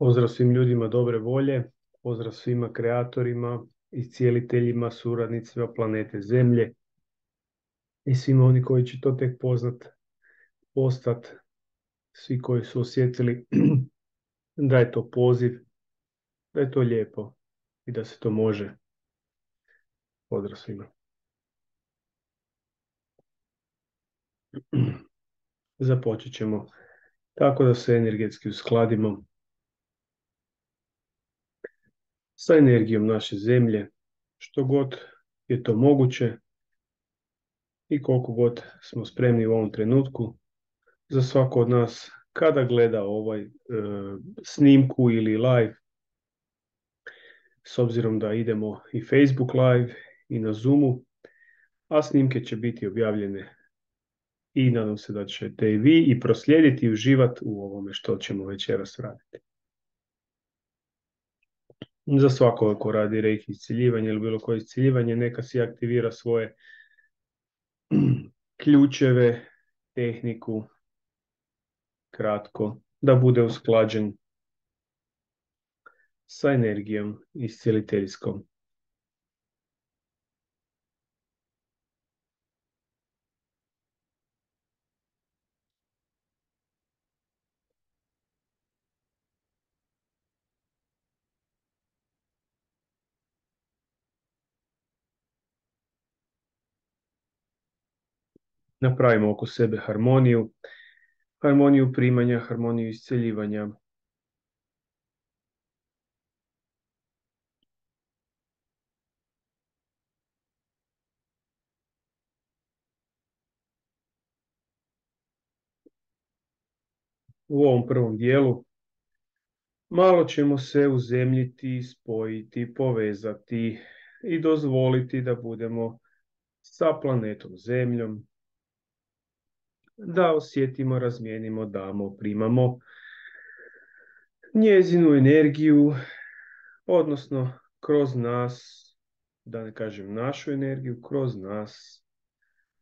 Pozdrav svim ljudima dobre volje, pozdrav svima kreatorima i cijeliteljima, suradnicima planete Zemlje i svima oni koji će to tek postat, svi koji su osjetili da je to poziv, da je to lijepo i da se to može. Pozdrav svima. Započet ćemo tako da se energetski uskladimo sa energijom naše Zemlje, što god je to moguće i koliko god smo spremni u ovom trenutku. Za svako od nas kada gleda snimku ili live, s obzirom da idemo i Facebook live i na Zoomu, a snimke će biti objavljene i nadam se da ćete i vi i proslijediti i uživati u ovome što ćemo večeras raditi. Za svakoga ko radi reiki isciljivanje ili bilo koje isciljivanje, neka si aktivira svoje ključeve, tehniku, kratko, da bude usklađen sa energijom iscijeliteljskom. Napravimo oko sebe harmoniju, harmoniju primanja, harmoniju isceljivanja. U ovom prvom dijelu malo ćemo se uzemljiti, spojiti, povezati i dozvoliti da budemo sa planetom Zemljom, da osjetimo, razmijenimo, damo, primamo njezinu energiju, odnosno kroz nas, da ne kažem našu energiju, kroz nas,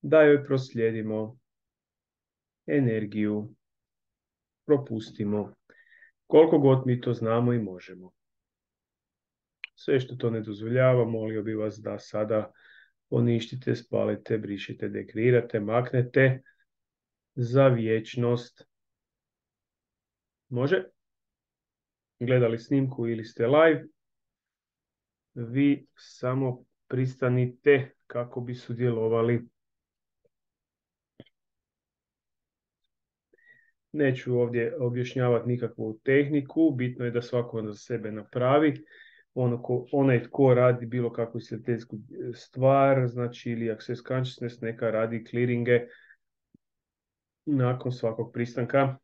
da joj proslijedimo energiju, propustimo, koliko god mi to znamo i možemo. Sve što to ne dozvoljava, molio bi vas da sada poništite, spalite, brišite, dekreirate, maknete za vječnost. Može? Gledali snimku ili ste live, vi samo pristanite kako bi sudjelovali. Neću ovdje objašnjavati nikakvu tehniku, bitno je da svako za sebe napravi. Onaj tko radi bilo kakvu iscijeliteljsku stvar, znači ili access consciousness, neka radi clearinge nakon svakog pristanka.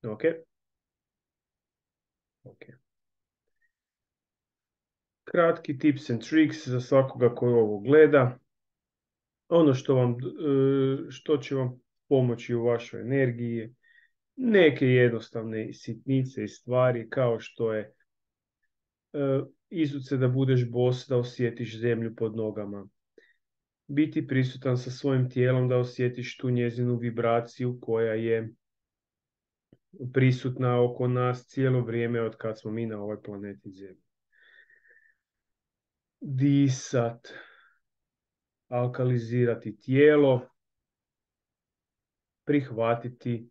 Ok. Kratki tips and tricks za svakoga koji ovo gleda. Ono što će vam pomoći u vašoj energiji, neke jednostavne sitnice i stvari kao što je izuce da budeš bos, da osjetiš zemlju pod nogama. Biti prisutan sa svojim tijelom, da osjetiš tu njezinu vibraciju koja je prisutna oko nas cijelo vrijeme od kad smo mi na ovoj planeti Zemlji. Disat, alkalizirati tijelo, prihvatiti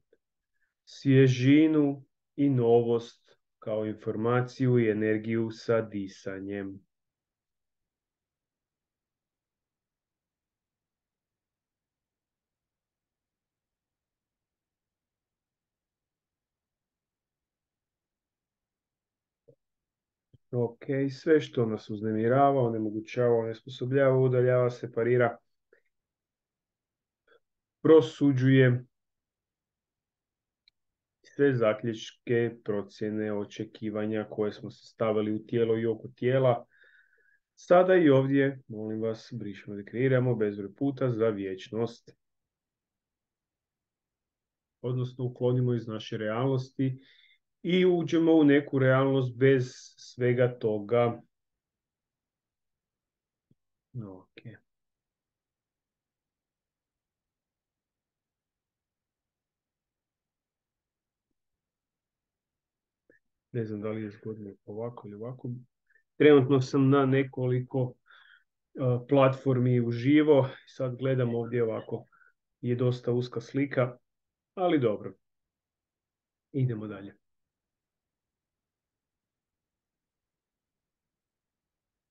svježinu i novost kao informaciju i energiju sa disanjem. Ok, sve što nas uznemirava, onemogućava, onesposobljava, udaljava, separira, prosuđuje sve zaključke, procjene, očekivanja koje smo se stavili u tijelo i oko tijela. Sada i ovdje, molim vas, brišemo, dekreiramo bezbroj puta za vječnost. Odnosno, uklonimo iz naše realnosti i uđemo u neku realnost bez svega toga. Ok. Ne znam da li je zgodno ovako ili ovako. Trenutno sam na nekoliko platformi uživo. Sad gledam ovdje ovako. Je dosta uska slika, ali dobro. Idemo dalje.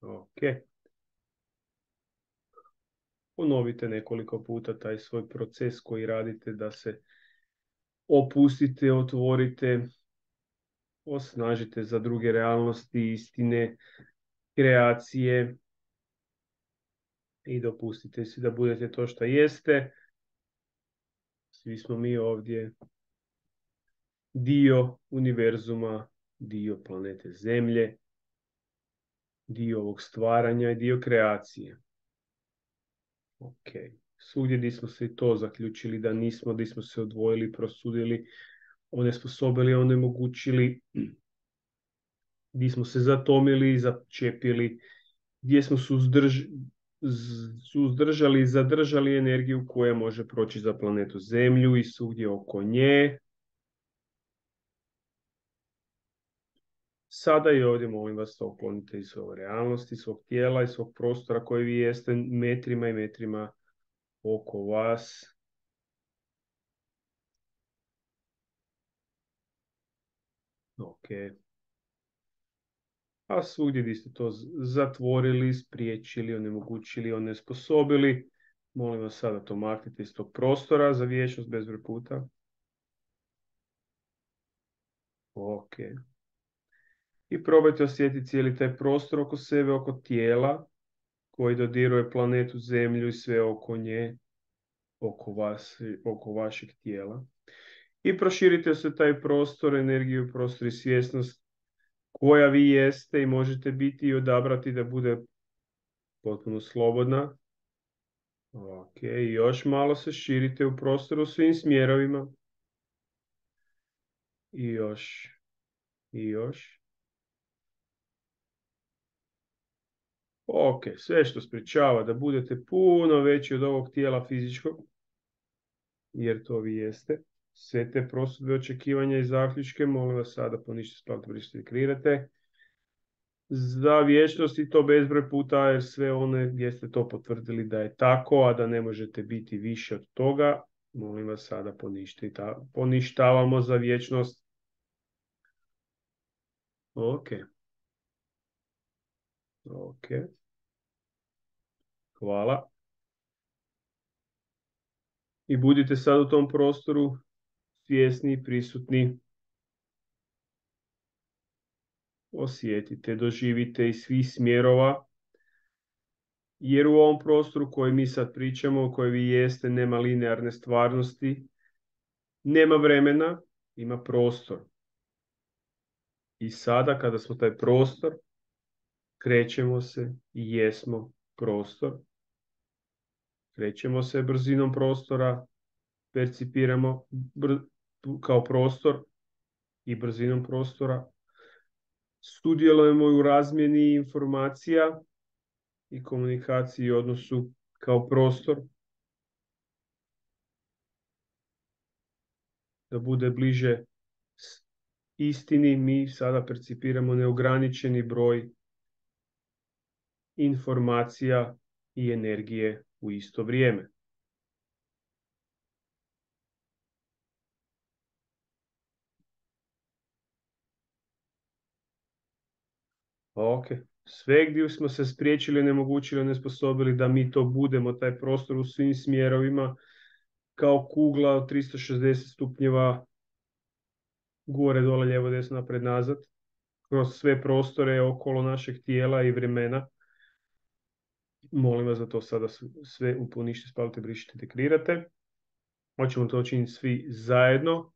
Ok. Ponovite nekoliko puta taj svoj proces koji radite da se opustite, otvorite, osnažite za druge realnosti, istine, kreacije i dopustite si da budete to što jeste. Svi smo mi ovdje dio univerzuma, dio planete Zemlje, dio ovog stvaranja i dio kreacije. Ok. Svugdje gdje smo se i to zaključili da nismo, gdje smo se odvojili, prosudili, onesposobili, onemogućili, gdje smo se zatomili, začepili, gdje smo suzdržali i zadržali energiju koja može proći za planetu Zemlju i svugdje oko nje. Sada i ovdje molim vas da uklonite iz svoje realnosti, svog tijela i svog prostora koji vi jeste metrima i metrima oko vas. Ok. A svugdje gdje ste to zatvorili, spriječili, onemogućili, onesposobili, molim vas sada to maknite iz tog prostora za vječnost bezbroj puta. Ok. I probajte osjetiti cijeli taj prostor oko sebe, oko tijela koji dodiruje planetu Zemlju i sve oko nje, oko vas, oko vašeg tijela. I proširite se taj prostor, energiju, prostor i svjesnost koja vi jeste i možete biti i odabrati da bude potpuno slobodna. Ok, još malo se širite u prostoru svim smjerovima. I još, i još. Ok, sve što sprječava da budete puno veći od ovog tijela fizičkog, jer to vi jeste. Sve te prosudbe, očekivanja i zaključke, molim vas sada ponište splavite, brišite i kreirate. Za vječnost i to bezbroj puta, jer sve one gdje ste to potvrdili da je tako, a da ne možete biti više od toga, molim vas sada poništavamo za vječnost. Ok. Ok. Hvala. I budite sad u tom prostoru svjesni, prisutni. Osjetite, doživite iz svih smjerova. Jer u ovom prostoru koji mi sad pričamo, u kojoj vi jeste, nema linearne stvarnosti, nema vremena, ima prostor. I sada kada smo taj prostor, krećemo se i jesmo prostor. Krećemo se brzinom prostora, percipiramo kao prostor i brzinom prostora. Sudjelujemo u razmjeni informacija i komunikaciji i odnosu kao prostor. Da bude bliže istini, mi sada percipiramo neograničeni broj informacija i energije u isto vrijeme. Ok. Sve gdje smo se spriječili, nemogućili, nesposobili da mi to budemo, taj prostor u svim smjerovima, kao kugla od 360 stupnjeva, gore, dole, lijevo, desno, napred, nazad, kroz sve prostore okolo našeg tijela i vremena. Molim vas da to sada sve uponište, spalite, brišite, dekrirate. Hoćemo to učiniti svi zajedno.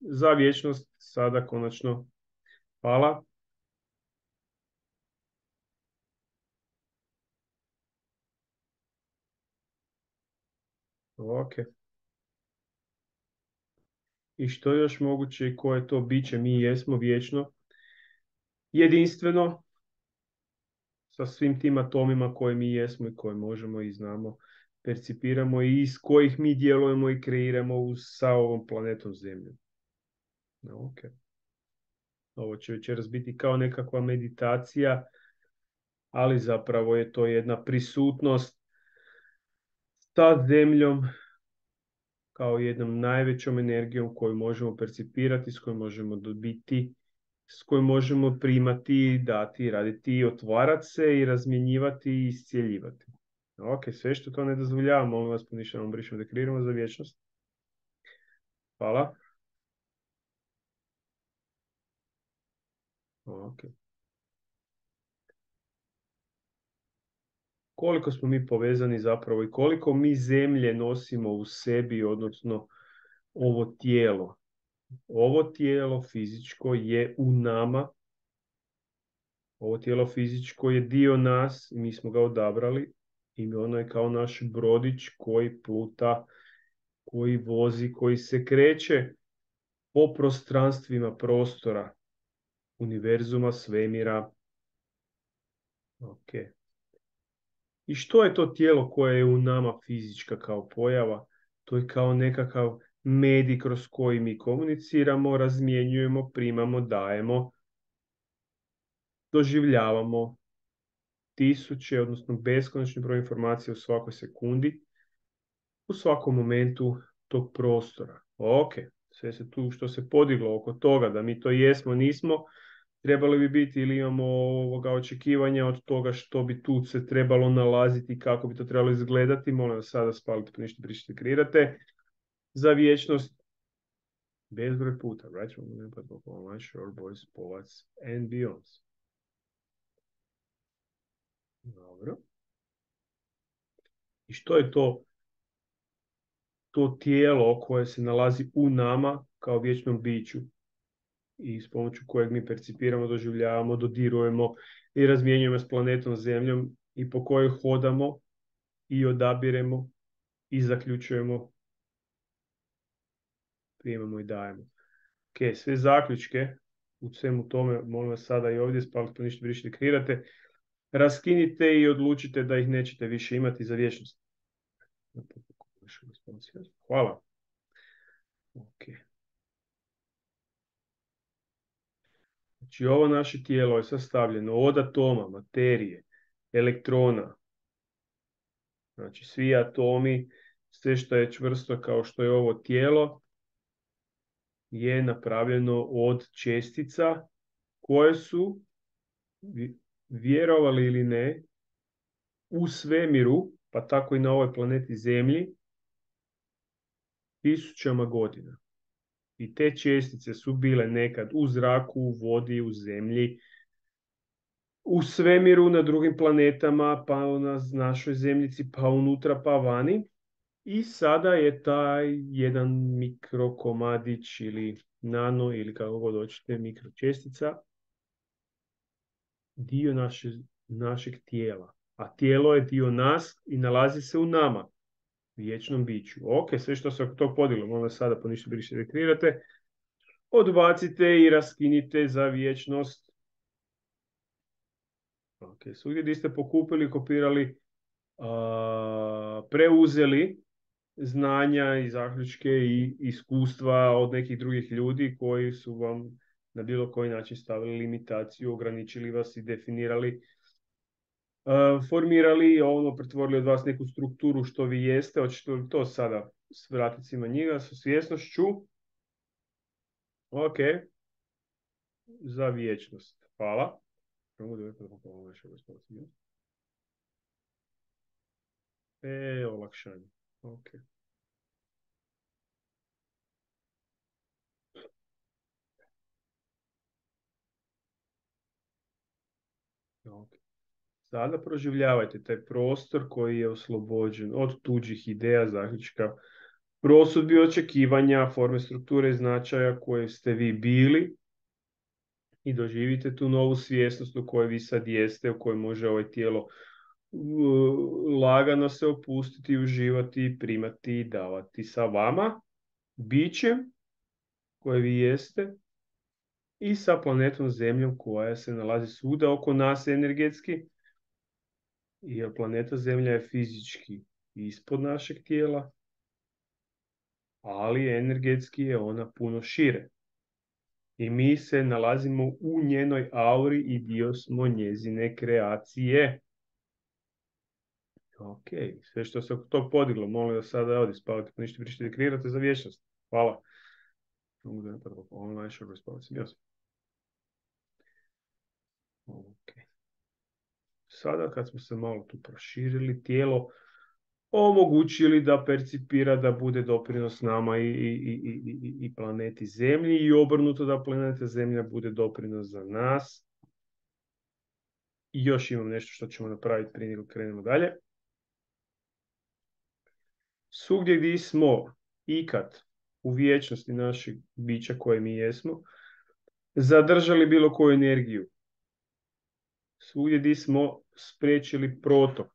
Za vječnost sada konačno. Hvala. Ok. I što je još moguće i koje to biće mi jesmo vječno, jedinstveno, sa svim tim atomima koje mi jesmo i koje možemo i znamo, percipiramo i iz kojih mi djelujemo i kreiramo sa ovom planetom Zemljom. Ok. Ovo će večeras biti kao nekakva meditacija, ali zapravo je to jedna prisutnost sa zemljom kao jednom najvećom energijom koju možemo percipirati, s kojom možemo dobiti, s kojom možemo primati, dati, raditi, otvarati se i razmjenjivati i iscijeljivati. Ok, sve što to ne dozvoljava, molim vas, poništamo, brišemo, dekreiramo za vječnost. Hvala. Ok. Koliko smo mi povezani zapravo i koliko mi zemlje nosimo u sebi, odnosno ovo tijelo. Ovo tijelo fizičko je u nama. Ovo tijelo fizičko je dio nas i mi smo ga odabrali i ono je kao naš brodić koji pluta, koji vozi, koji se kreće po prostranstvima prostora, univerzuma, svemira. Ok. I što je to tijelo koje je u nama fizička kao pojava? To je kao nekakav medij kroz koji mi komuniciramo, razmjenjujemo, primamo, dajemo, doživljavamo tisuće, odnosno beskonačni broj informacija u svakoj sekundi, u svakom momentu tog prostora. Ok, sve se tu što se podiglo oko toga, da mi to jesmo, nismo, trebali bi biti ili imamo ovoga očekivanja od toga što bi tu se trebalo nalaziti, kako bi to trebalo izgledati. Molim vas sada spalite, pa ništa pričate, kreirate za vječnost bezbroj puta. Right? Shore, boys, polac and beyonds. Dobro. I što je to tijelo koje se nalazi u nama kao vječnom biću i s pomoću kojeg mi percipiramo, doživljavamo, dodirujemo i razmjenjujemo s planetom Zemljom i po kojoj hodamo i odabiremo i zaključujemo, primamo i dajemo. Ok, sve zaključke u svemu tome, molim vas sada i ovdje, spalite, pa ništa brišite, kreirate, raskinite i odlučite da ih nećete više imati za vječnost. Hvala. Ok. Znači ovo naše tijelo je sastavljeno od atoma, materije, elektrona. Znači svi atomi, sve što je čvrsto kao što je ovo tijelo, je napravljeno od čestica koje su, vjerovali ili ne, u svemiru, pa tako i na ovoj planeti Zemlji, tisućama godina. I te čestice su bile nekad u zraku, u vodi, u zemlji, u svemiru, na drugim planetama, pa na našoj zemljici, pa unutra, pa vani. I sada je taj jedan mikrokomadić ili nano ili kako god hoćete mikročestica dio našeg tijela. A tijelo je dio nas i nalazi se u nama, vječnom biću. Ok, sve što se oko tog podiglo, molim vas sada po ništa briše rekreirate, odbacite i raskinite za vječnost. Ok, svugdje gdje ste pokupili, kopirali, preuzeli znanja i zaključke i iskustva od nekih drugih ljudi koji su vam na bilo koji način stavili limitaciju, ograničili vas i definirali, formirali, ono, pretvorili od vas neku strukturu što vi jeste. Hoćete li to sada vratiti svima njega sa svjesnošću? Ok, za vječnost. Hvala. Olakšanje. Ok. Ok. Sada proživljavajte taj prostor koji je oslobođen od tuđih ideja, zaključka, prosudbi, očekivanja, forme, strukture i značaja koje ste vi bili i doživite tu novu svjesnost u kojoj vi sad jeste, u kojoj može ovo tijelo lagano se opustiti, uživati, primati i davati sa vama, bićem koje vi jeste i sa planetom Zemljom koja se nalazi svuda oko nas energetski. Jer planeta Zemlja je fizički ispod našeg tijela, ali energetski je ona puno šire. I mi se nalazimo u njenoj auri i dio smo njezine kreacije. Ok, sve što se to podiglo, molim vas sada ovdje spavati, pa ništa pričati, kreirate za vječnost. Hvala. Online show response, yes. Ok. Sada kad smo se malo tu proširili, tijelo omogućili da percipira da bude doprinos nama i planeti Zemlji i obrnuto da planeta Zemlja bude doprinos za nas. I još imam nešto što ćemo napraviti prije nego krenemo dalje. Svugdje gdje smo ikad u vječnosti našeg bića koje mi jesmo, zadržali bilo koju energiju. Svugdje gdje smo spriječili protok,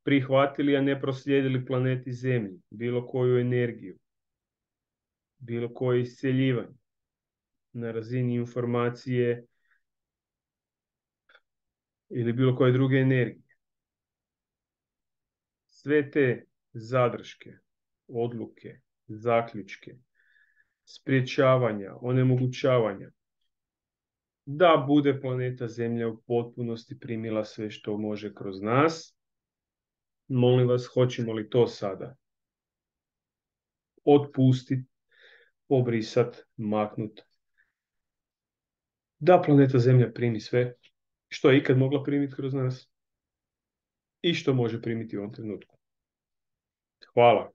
prihvatili, a ne proslijedili planeti Zemlji, bilo koju energiju, bilo koje iscjeljivanje na razini informacije ili bilo koje druge energije. Sve te zadrške, odluke, zaključke, spriječavanja, onemogućavanja, da bude planeta Zemlja u potpunosti primila sve što može kroz nas. Molim vas, hoćemo li to sada otpustiti, obrisati, maknuti, da planeta Zemlja primi sve što je ikad mogla primiti kroz nas i što može primiti u ovom trenutku. Hvala.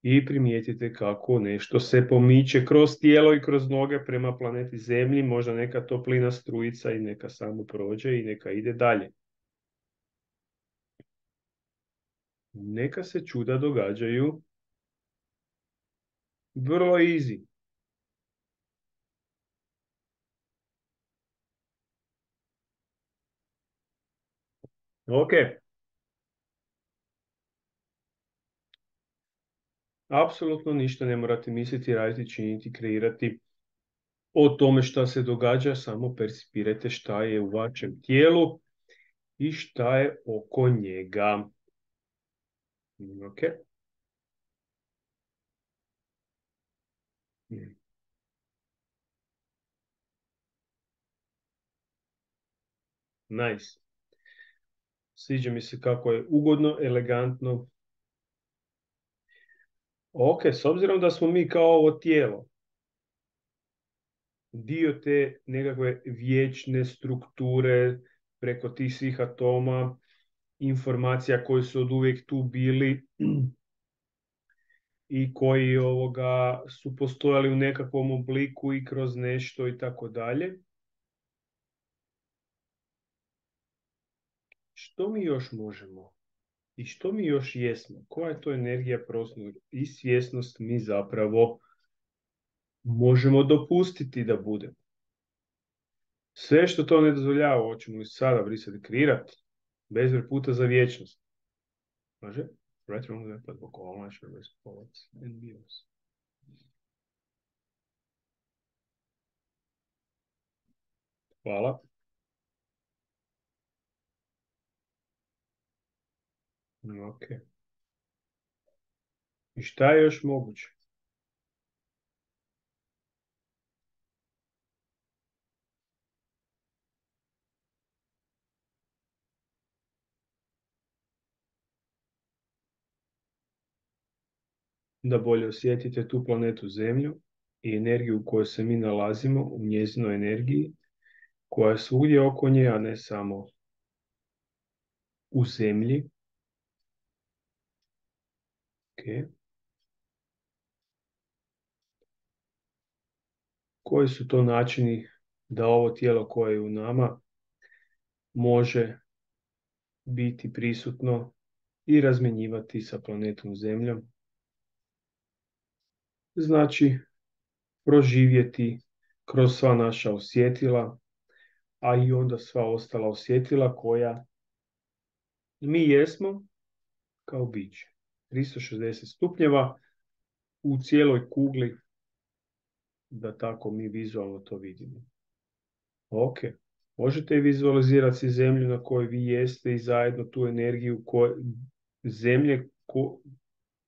I primijetite kako nešto se pomiče kroz tijelo i kroz noge prema planeti Zemlji, možda neka toplina strujica i neka samo prođe i neka ide dalje. Neka se čuda događaju vrlo easy. Ok. Apsolutno ništa ne morate misliti, raditi, činiti, kreirati o tome šta se događa, samo percipirajte šta je u vašem tijelu i šta je oko njega. Ok. Nice. Sviđa mi se kako je ugodno, elegantno. Ok, s obzirom da smo mi kao ovo tijelo, dio te nekakve vječne strukture preko tih svih atoma, informacija koji su od uvijek tu bili i koji su postojali u nekakvom obliku i kroz nešto i tako dalje. Što mi još možemo? I što mi još jesmo? Koja je to energija prostora i svjesnost mi zapravo možemo dopustiti da bude? Sve što to ne dozvoljava, hoćemo li sada brisati, kreirati, bezbroj puta za vječnost. Može? Hvala. Ok. I šta je još moguće? Da bolje osjetite tu planetu Zemlju i energiju u kojoj se mi nalazimo, u njezinoj energiji, koja je svugdje oko nje, a ne samo u Zemlji. Okay. Koji su to načini da ovo tijelo koje je u nama može biti prisutno i razmjenjivati sa planetom Zemljom? Znači, proživjeti kroz sva naša osjetila, a i onda sva ostala osjetila koja mi jesmo kao biće. 360 stupnjeva u cijeloj kugli, da tako mi vizualno to vidimo. Ok. Možete vizualizirati si zemlju na kojoj vi jeste i zajedno tu energiju zemlje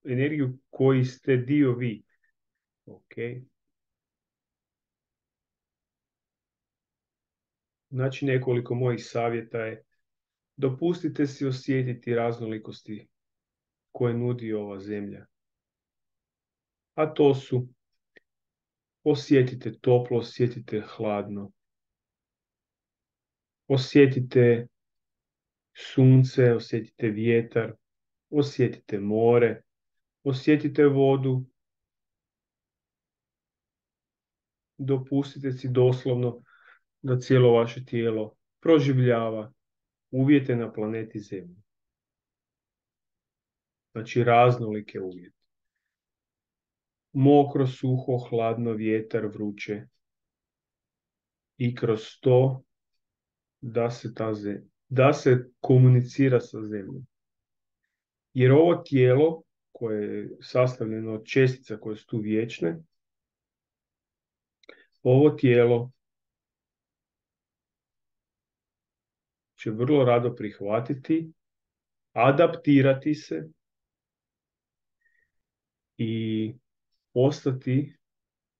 energiju koji ste dio vi. Ok. Znači nekoliko mojih savjeta je dopustite si osjetiti raznolikosti koje nudi ova zemlja. A to su osjetite toplo, osjetite hladno, osjetite sunce, osjetite vjetar, osjetite more, osjetite vodu, dopustite si doslovno da cijelo vaše tijelo proživljava uvjete na planeti Zemlji. Znači raznolike uvjete. Mokro, suho, hladno, vjetar, vruće. I kroz to da se komunicira sa Zemljom. Jer ovo tijelo koje je sastavljeno od čestica koje su tu vječne, ovo tijelo će vrlo rado prihvatiti, adaptirati se i postati,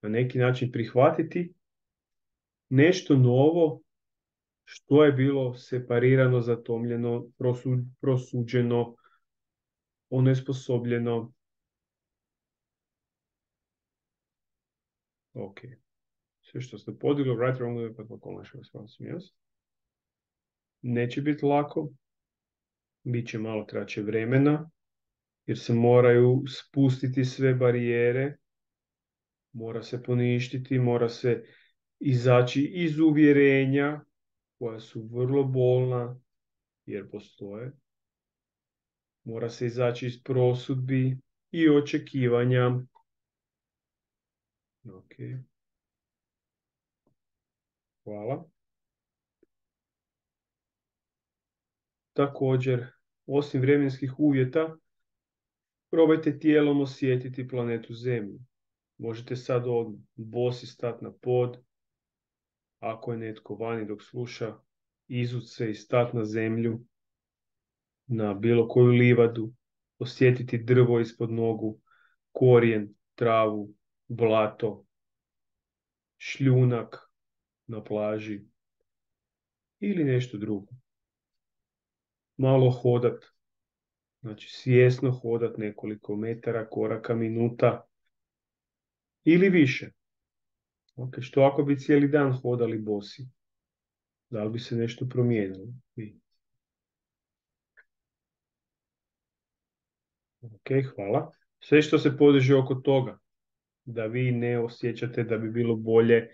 na neki način prihvatiti nešto novo što je bilo separirano, zatomljeno, prosuđeno, onesposobljeno. Ok. Sve što ste podigli, right, wrong, neće biti lako, bit će malo kraće vremena, jer se moraju spustiti sve barijere, mora se poništiti, mora se izaći iz uvjerenja koja su vrlo bolna, jer postoje. Mora se izaći iz prosudbi i očekivanja. Ok. Hvala. Također, osim vremenskih uvjeta, probajte tijelom osjetiti planetu Zemlju. Možete sad bosi stati na pod, ako je netko vani dok sluša, izut se i stati na zemlju, na bilo koju livadu, osjetiti drvo ispod nogu, korijen, travu, blato, šljunak na plaži ili nešto drugo. Malo hodat, znači svjesno hodat nekoliko metara, koraka, minuta ili više. Ok, što ako bi cijeli dan hodali bosi? Da li bi se nešto promijenilo? Ok, hvala. Sve što se podiže oko toga, da vi ne osjećate da bi bilo bolje,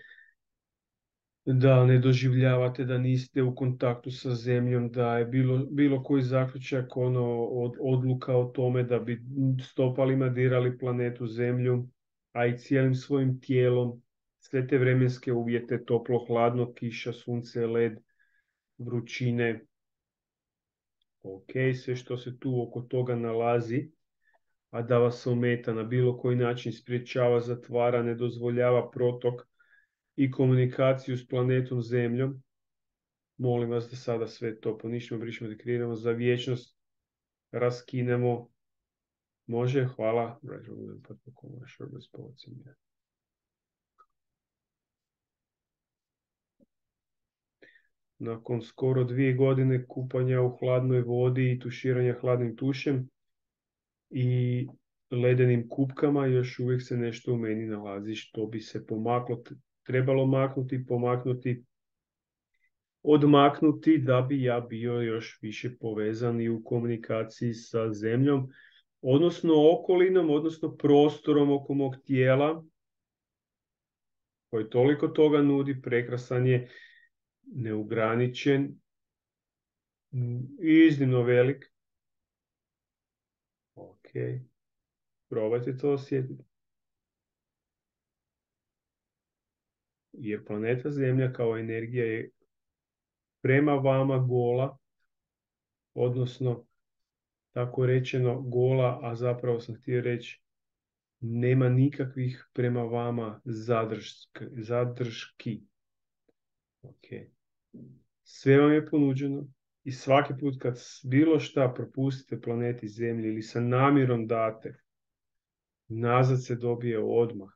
da ne doživljavate da niste u kontaktu sa zemljom, da je bilo koji zaključak, odluka o tome da bi stopalima dirali planetu Zemlju, a i cijelim svojim tijelom, sve te vremenske uvjete, toplo, hladno, kiša, sunce, led, vrućine. Ok, sve što se tu oko toga nalazi, a da vas ometa na bilo koji način, spriječava, zatvara, ne dozvoljava protok i komunikaciju s planetom Zemljom, molim vas da sada sve to poništimo, brišemo, dekreiramo, za vječnost raskinemo. Može, hvala. Nakon skoro 2 godine kupanja u hladnoj vodi i tuširanja hladnim tušem i ledenim kupkama, još uvijek se nešto u meni nalazi što bi se trebalo maknuti, pomaknuti, odmaknuti da bi ja bio još više povezan i u komunikaciji sa zemljom, odnosno okolinom, odnosno prostorom oko mog tijela, koji toliko toga nudi, prekrasan je, neograničen i iznimno velik. Ok, probajte to osjetiti. Jer planeta Zemlja kao energija je prema vama gola, odnosno tako rečeno gola, a zapravo sam htio reći nema nikakvih prema vama zadrški. Okay. Sve vam je ponuđeno i svaki put kad bilo šta propustite planeti Zemlji ili sa namjerom date, nazad se dobije odmah.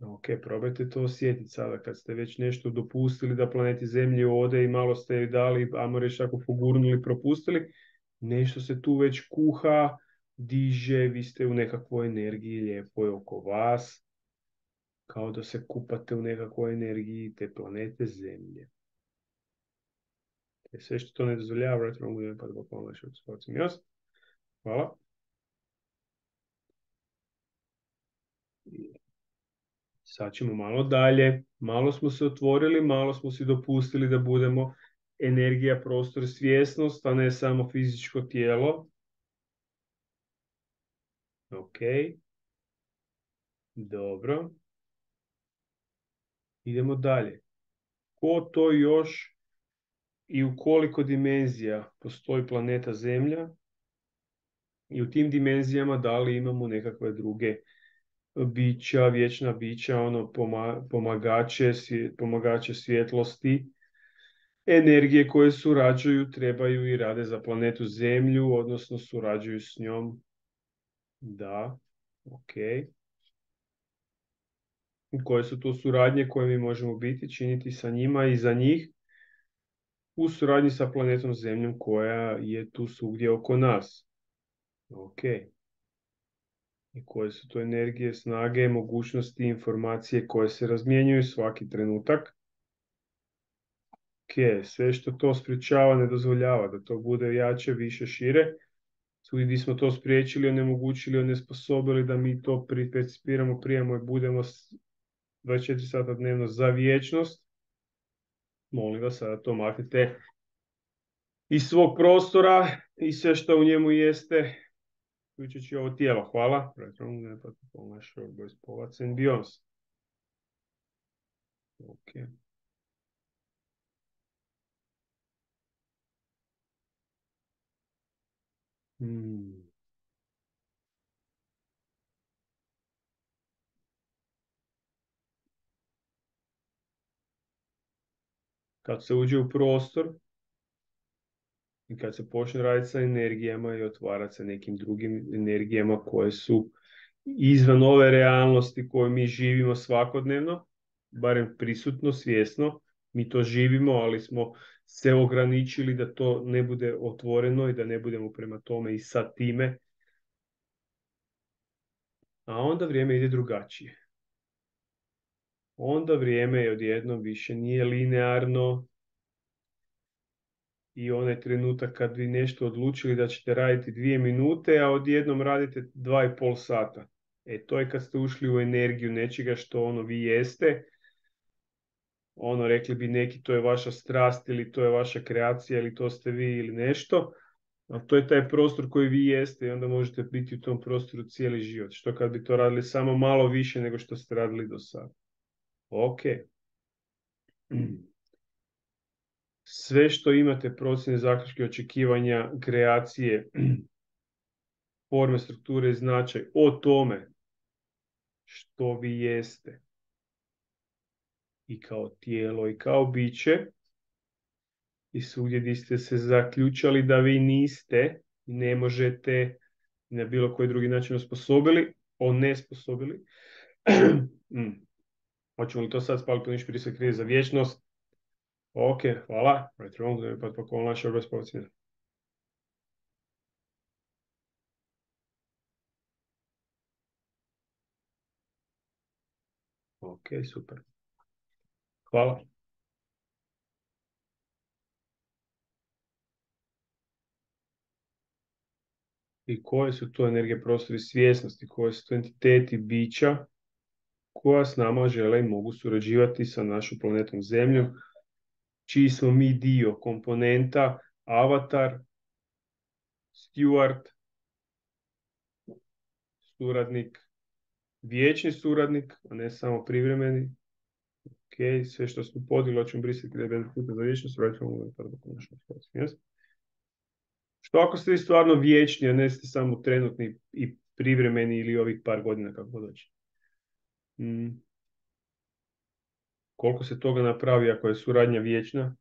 Ok, probajte to osjetiti sada kad ste već nešto dopustili da planeti Zemlji ode i malo ste joj dali, ajmo reći ako pogurnuli, propustili, nešto se tu već kuha, diže, vi ste u nekakvoj energiji lijepoj oko vas, kao da se kupate u nekakvoj energiji te planete Zemlje. Sve što to ne dozvoljava, vratno mogu pa da pomoći od spacim jasno. Hvala. Sad ćemo malo dalje. Malo smo se otvorili, malo smo si dopustili da budemo energija, prostor, svjesnost, a ne samo fizičko tijelo. Ok. Dobro. Idemo dalje. Ko to još i u koliko dimenzija postoji planeta Zemlja? I u tim dimenzijama da li imamo nekakve druge bića, vječna bića, ono pomagače svjetlosti, energije koje surađuju, trebaju i rade za planetu Zemlju, odnosno surađuju s njom. Da, ok. Koje su to suradnje koje mi možemo biti, činiti sa njima i za njih u suradnji sa planetom Zemljom koja je tu svugdje oko nas. Ok. I koje su to energije, snage, mogućnosti, informacije koje se razmjenjuju svaki trenutak. Ok, sve što to sprječava, ne dozvoljava da to bude jače, više, šire. Svugdje gdje smo to spriječili, onemogućili, onesposobili da mi to percipiramo, prijemo i budemo 24 sata dnevno za vječnost. Molim vas, sada to maknite iz svog prostora i sve što u njemu jeste, uključujući ovo tijelo. Hvala. Okay. Kad se uđe u prostor i kad se počne raditi sa energijama i otvarati sa nekim drugim energijama koje su izvan ove realnosti koju mi živimo svakodnevno, barem prisutno, svjesno, mi to živimo, ali smo se ograničili da to ne bude otvoreno i da ne budemo prema tome i sa time. A onda vrijeme ide drugačije. Onda vrijeme odjednom više nije linearno i onaj trenutak kad vi nešto odlučili da ćete raditi 2 minute, a odjednom radite 2,5 sata. To je kad ste ušli u energiju nečega što ono vi jeste. Ono, rekli bi neki, to je vaša strast ili to je vaša kreacija ili to ste vi ili nešto. A to je taj prostor koji vi jeste i onda možete biti u tom prostoru cijeli život. Što kad bi to radili samo malo više nego što ste radili do sada. Ok. Sve što imate, procjene, zaključke, očekivanja, kreacije, forme, strukture i značaj o tome što vi jeste i kao tijelo i kao biće i svugdje gdje ste se zaključali da vi niste, ne možete na bilo koji drugi način onesposobili. Hoćemo li to sad spaliti po niš prije se krije za vječnost? Ok, hvala. Ok, super. Hvala. I koje su to energije, prostori svjesnosti, koje su to entiteti bića koja s nama žele i mogu surađivati sa našom planetom Zemljom, čiji smo mi dio, komponenta, avatar, steward, suradnik, vječni suradnik, a ne samo privremeni. Ok, sve što smo podijeli, ćemo brisati gdje je puta za vječnost, što ako ste vi stvarno vječni, a ne ste samo trenutni i privremeni ili ovih par godina kako doći. Koliko se toga napravi ako je suradnja vječna,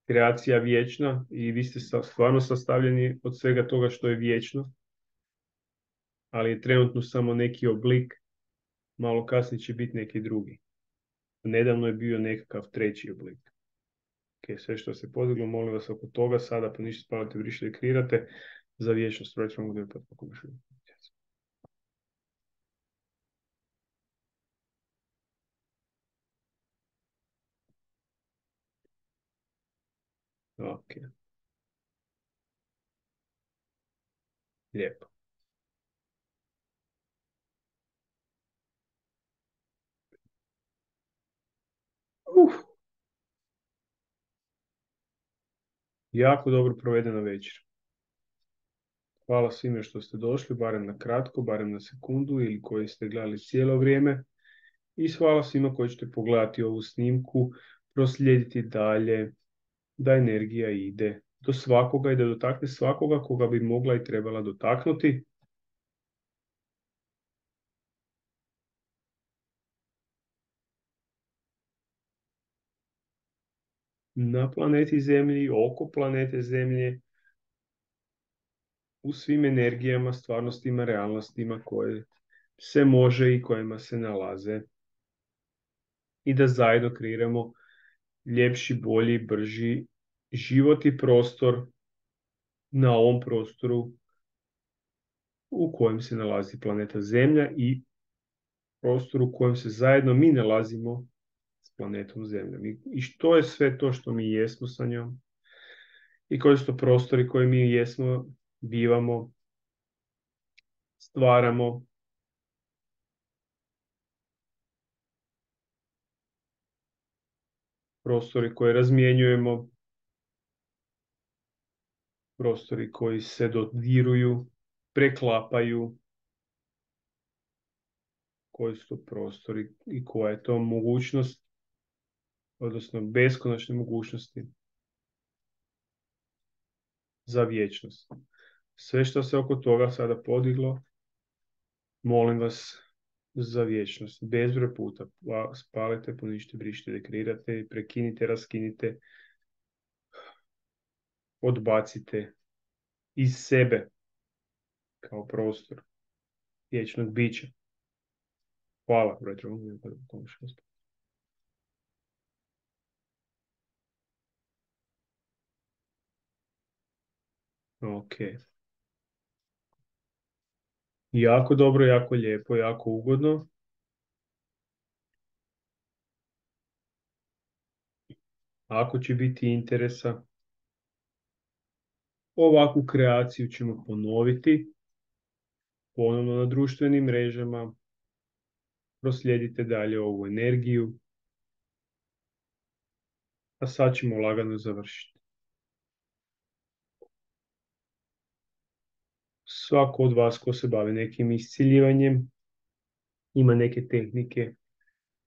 kreacija vječna i vi ste stvarno sastavljeni od svega toga što je vječno, ali je trenutno samo neki oblik, malo kasnije će biti neki drugi. Nedavno je bio nekakav treći oblik. Ok, sve što se podiglo, molim vas oko toga, sada pa ništa spavate, brišite i kreirate za vječnost. Proćemo gdje pa pokušaju. Ok, lijepo. Uf, jako dobro provedena večer. Hvala svima što ste došli, barem na kratko, barem na sekundu ili koji ste gledali cijelo vrijeme. I hvala svima koji ćete pogledati ovu snimku, proslijediti dalje, da energija ide do svakoga i da dotakne svakoga koga bi mogla i trebala dotaknuti. Na planeti Zemlji, oko planete Zemlje, u svim energijama, stvarnostima, realnostima koje se može i kojima se nalaze. I da zajedno kreiramo ljepši, bolji, brži život i prostor na ovom prostoru u kojem se nalazi planeta Zemlja i prostoru u kojem se zajedno mi nalazimo s planetom Zemljom. I što je sve to što mi jesmo sa njom i koji su to prostori koji mi jesmo, bivamo, stvaramo, prostori koje razmjenjujemo, prostori koji se dodiruju, preklapaju, koji su to prostori i koja je to mogućnost, odnosno beskonačne mogućnosti za vječnost. Sve što se oko toga sada podiglo, molim vas za vječnost. Bezbroj puta spalite, ponište, brišite, dekreirate, prekinite, raskinite, odbacite iz sebe kao prostor vječnog bića. Hvala, brojte. Ok. Jako dobro, jako lijepo, jako ugodno. Ako će biti interesa, ovakvu kreaciju ćemo ponoviti ponovno na društvenim mrežama. Proslijedite dalje ovu energiju. A sad ćemo lagano završiti. Svako od vas ko se bavi nekim isciljivanjem, ima neke tehnike,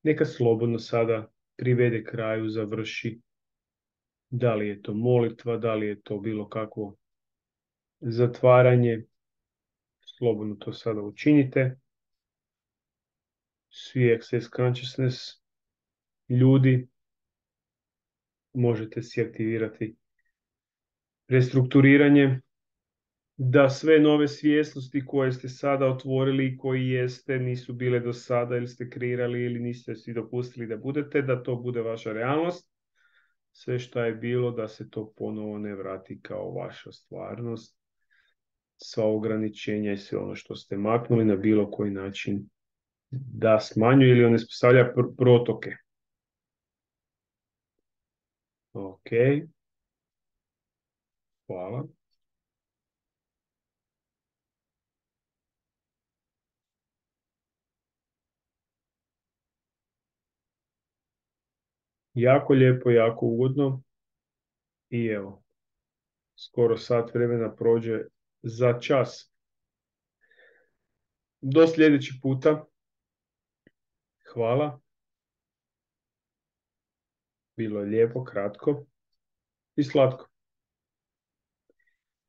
neka slobodno sada privede kraju, završi. Da li je to molitva, da li je to bilo kakvo zatvaranje, slobodno to sada učinite. Svi Access Consciousness ljudi, možete si aktivirati restrukturiranje, da sve nove svjesnosti koje ste sada otvorili i koji jeste, nisu bile do sada ili ste kreirali ili niste si dopustili da budete, da to bude vaša realnost. Sve što je bilo, da se to ponovo ne vrati kao vaša stvarnost. Sva ograničenja i sve ono što ste maknuli na bilo koji način da smanjuje ili onespostavlja protoke. Ok. Hvala. Jako lijepo, jako ugodno. I evo, skoro sat vremena prođe za čas. Do sljedeći puta. Hvala. Bilo je lijepo, kratko i slatko.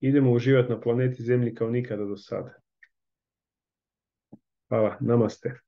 Idemo uživati na planeti Zemlji kao nikada do sada. Hvala, namaste.